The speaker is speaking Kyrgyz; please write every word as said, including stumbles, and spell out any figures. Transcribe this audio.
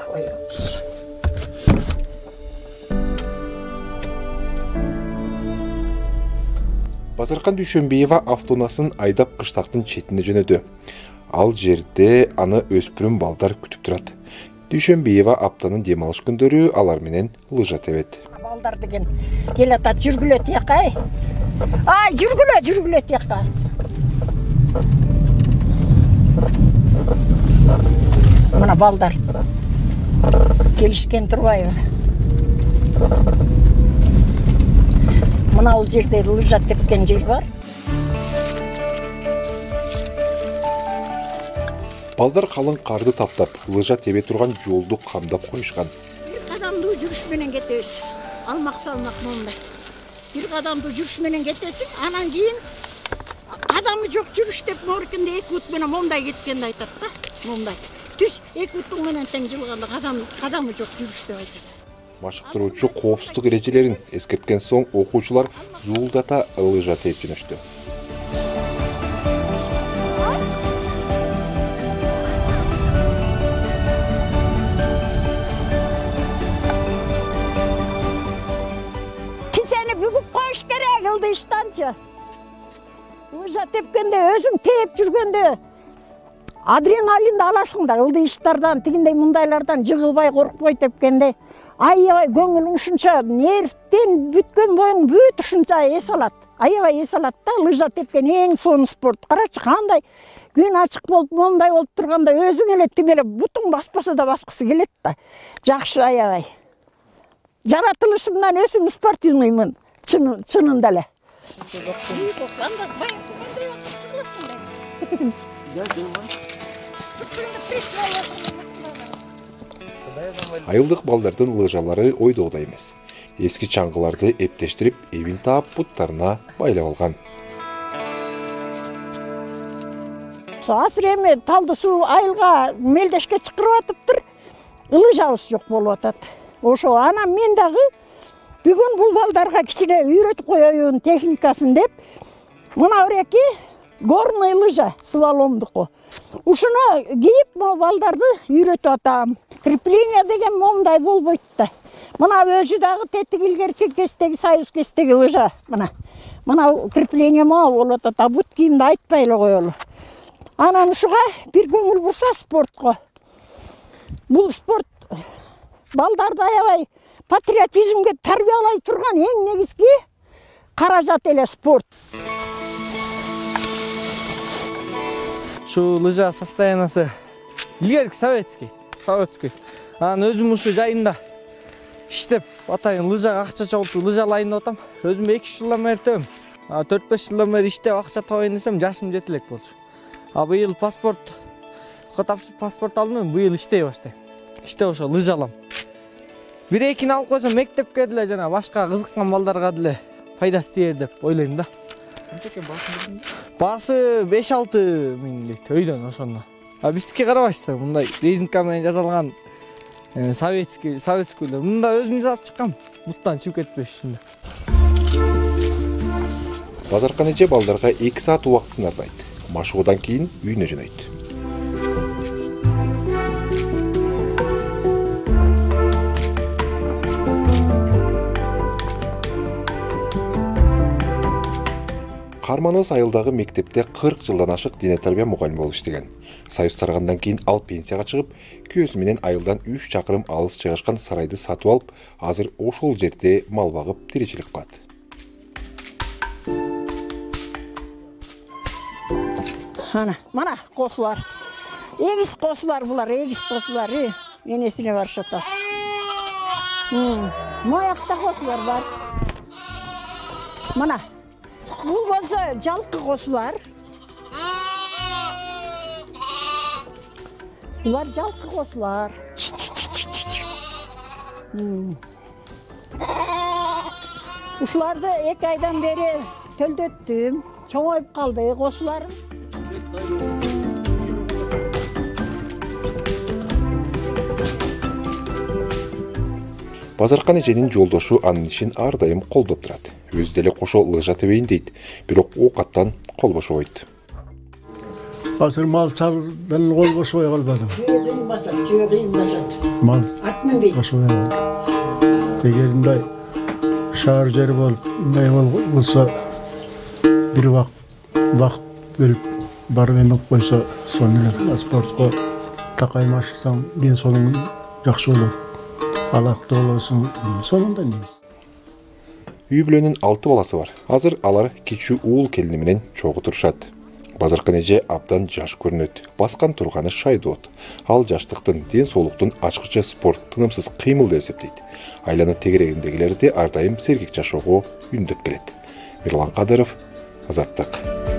коебуз. Базаркан Дүйшөнбиева автонаасын айдап кыштактын четине жөнөдү. Ал жерде аны өспүрүм балдар күтүп турат. Дүйшөнбиева аптанын дем алыш күндөрү алар менен лыжа тебет. Балдар деген келатат, жүргүлө тияка, ай. Ай, жүргүлө, жүргүлө тияка. Мына балдар келишкен турбайбы? Мына бул жерде лыжа тепкен жер бар. Балдар калың карды таптап, лыжа тебе турган жолду камдап коюшкан. Бир кадамдуу жүрүш менен кетебиз. Алмак салмак мондай. Бир кадамдуу жүрүш менен кетесиң, анан кийин кадамы жок жүрүш деп моркинде эки бут менен мондай кеткенди айтат да. Мондай. Түз эки бутуң менен тең жылганда кадам кадамы жок жүрүш деп айтат. Машыктыруучу коопсуздук эрежелерин эскерткен соң окуучулар зуулдата лыжа тээп жөнөштү. Кисени бүгүп коюш керек ылдыйыштанчы. Лыжа тепкенде өзүң тээп жүргөндө адреналинди аласың да, ылдыйыштардан, тигиндей мындайлардан жыгылбай, коркпой тепкенде. Аябай көңүлүң ушунча нервтен бүткөн боюң бүт ушунча эс алат. Аябай эс алат да, лыжа тепкен эң сонун спорт. Карачы кандай күн ачык болуп, мондай болуп турганда өзүң эле тим эле бутуң баспаса да баскысы келет да. Жакшы аябай. Жаратылышымдан өзүм спортивныймын, чынында эле. Айылдык балдардын лыжалары ойдогудай эмес. Эски чаңгыларды эптештирип, эбин таап буттарына байлап алган. Азыр эми талды суу айылга мелдешке чакырып атыптыр. Лыжабыз жок болуп атат. Ошо анан мен дагы бүгүн бул балдарга кичине үйрөтүп коеюн техникасын деп, мына ыреки горный лыжа, слаломдуку. Ушуну кийип балдарды үйрөтүп атам. Крепление деген момундай болбойт да. Мына өзү дагы тетик илгерки кестеги, союз кестеги лыжа. Мына. Мына крепление могу болуп атат, а бут кийимди айтпай эле коелу. Анан ушуга бир көңүл бурса спортко. Бул спорт балдарды аябай патриотизмге тарбиялай турган эң негизги каражат эле спорт. Шу лыжа состояниясы илгерки советский. Советский. Анан өзүм ушу жайында иштеп атайын лыжага акча чогултуп лыжалайын деп атам. Өзүм эки жылдан бери тебем. төрт беш жылдан бери иштеп акча табайын десем жашым жете элек болчу. А быйыл паспорт тапшырып паспорт алдым, быйыл иштей баштайм. Иштеп ошо лыжалам. Бир экини алып койсом мектепке деле жана башка кызыккан балдарга деле пайдасы тиер деп ойлойм да. Канча экен баасы? Баасы беш алты миң дейт өйдөн ошондо. А биздики карабайсыздар, мындай резинка менен жасалган советский, советскийлер. Мында өзүм жасап чыккам. Буттан чыгып кетпеш үчүн. Базаркан эже балдарга эки саат убактысын арнайт. Машыгуудан кийин үйүнө жөнөйт. Карманыбыз айылдагы мектепте кырк жылдан ашык дене тарбия мугалими болуп иштеген. Союз таргандан кийин ал пенсияга чыгып, күйөөсү менен айылдан үч чакырым алыс жайгашкан сарайды сатып алып, азыр ошол жерде мал багып тиричилик кылат. Ана, мана косулар. Эгиз косулар булар, эгиз косулар. Энесине барышып атат. Моякта косулар бар. Мана бул болсо жалкы косулар. Булар жалкы косулар. Ушуларды эки айдан бери төлдөттүм. Чоңоюп калды косуларым. Базаркан эженин жолдошу анын ишин ар дайым колдоп турат. Өзү деле кошо лыжа тебейин дейт, бирок оокаттан кол бошобойт. азыр мал чалдан кол бошобой калбадым. Жөө кыйынбасат, жөө кыйынбасат. Мал Ат минбейт. бошобой калды. Эгер мындай шаар жери болуп, мындай болсо бир убак вакыт бөлүп барып эмип койсо, сону эле спортко такаймашсаң, ден соолугуң жакшы болот. Алакты болосуң, сонунда негизи. Үй бүлөнүн алты баласы бар. Азыр алар кичүү уул келини менен чогуу турушат. Базаркы эже абдан жаш көрүнөт. Баскан турганы шайдоот. Ал жаштыктын, ден соолуктун ачкыча спорт, тынымсыз кыймыл деп эсептейт. Айлана тегерегиндегилерди ар дайым сергек жашоого үндөп келет. Мирлан Кадыров, Азаттык.